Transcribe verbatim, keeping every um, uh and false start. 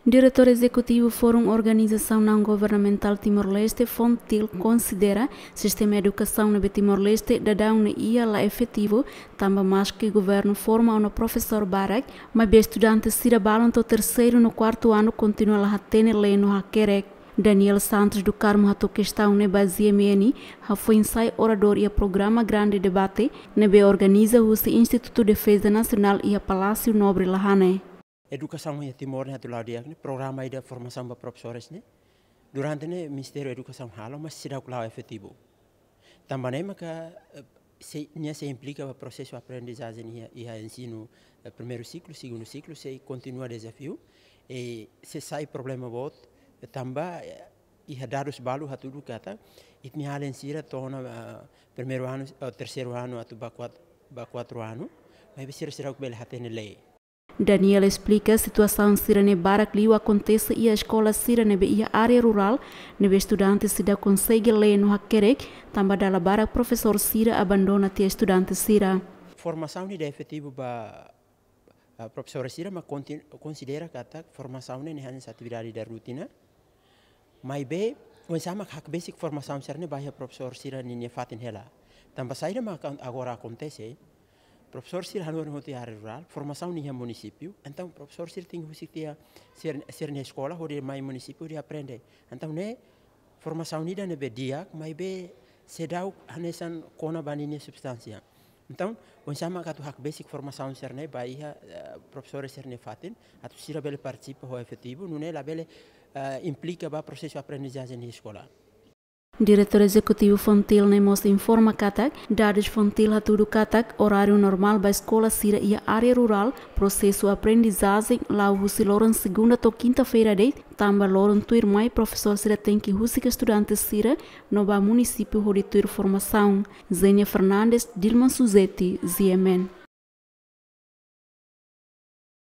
Diretór Ezekutivu Fórum Organizasaun Naun Governamentál Timor-Leste, FONGTIL, konsidera sistema edukasaun ne'ebé Timor-Leste daudaun ne'e iha la efetivu, tanba maski governu forma ona profesór barak, maibé estudante sira balun to'o terseiru no kuartu anu kontinua la hatene lee no hakerek. Daniel Santos do Carmo hato'o kestaun ne'e ba GMN, hafoin sai oradór iha programa Grande Debate, ne'ebé organiza husi Institutu Defeza Nasionál iha Palásiu Nobre, la hanesan. Edukasaun iha Timor ne'e atu la'o di'ak ne'e, programa ida formasaun ba profesores ne'e, durante ne'e Ministériu Edukasaun halo, mas seidauk la'o efetivu. Tanba ne'e maka, eh, sei, nia sei implika ba prosesu aprendizajen iha, iha ensinu, eh, primeiru siklu, segundu siklu, sei kontinua dezafiu, i sei sai problema boot, tanba, eh, iha dadus balu hatudu katak, ita-nia alin sira to'o ona, eh, primeiru anu, eh, terseiru anu atu ba kuat-, ba kuartu anu, maibé sira seidauk bele hatene lee. Daniel esplika situasaun sira-ne'e barak liu akontese iha eskola sira ne'ebé iha área rurál, ne'ebé estudante sira la konsege lee no hakerek, tanba dala barak profesór sira abandona tiha estudante sira. Formasaun ida efetivu ba, ah, profesór sira mak kontin-, konsidera katak formasaun ne'e hanesan atividade ida rutina. Maibé, oinsá mak hakbesik formasaun sira-ne'e ba iha profesór sira-nia fatin hela. Tanba saida mak akon-, agora akontese, profesór sira hanorin hotu iha área rurál, formasaun ne'e iha munisípiu, entaun profesór sira tenke husik tiha sira, sira-nia eskola, hodi mai munisípiu, hodi aprende. Entaun ne'e formasaun ida ne'ebé di'ak, maibé seidauk hanesan kona ba ninia substánsia. Entaun, oinsá mak atu hakbesik formasaun sira-ne'e ba iha, eh, profesór sira-nia fatin, atu sira bele partisipa ho efetivu, nune'e labele, eh, implika ba prosesu aprendizajen iha eskola. Diretór Ezekutivu FONGTIL ne'e mós informa katak, dadus FONGTIL hatudu katak, oráriu normál ba eskola sira iha área rurál, prosesu aprendizajen la'o husi loron segunda to'o kinta-feira de'it, tanba loron tuirmai profesór sira tenke husik estudante sira no ba munisípiu hodi tuir formasaun. Zenia Fernandes, Dilma Suzeti, GMN.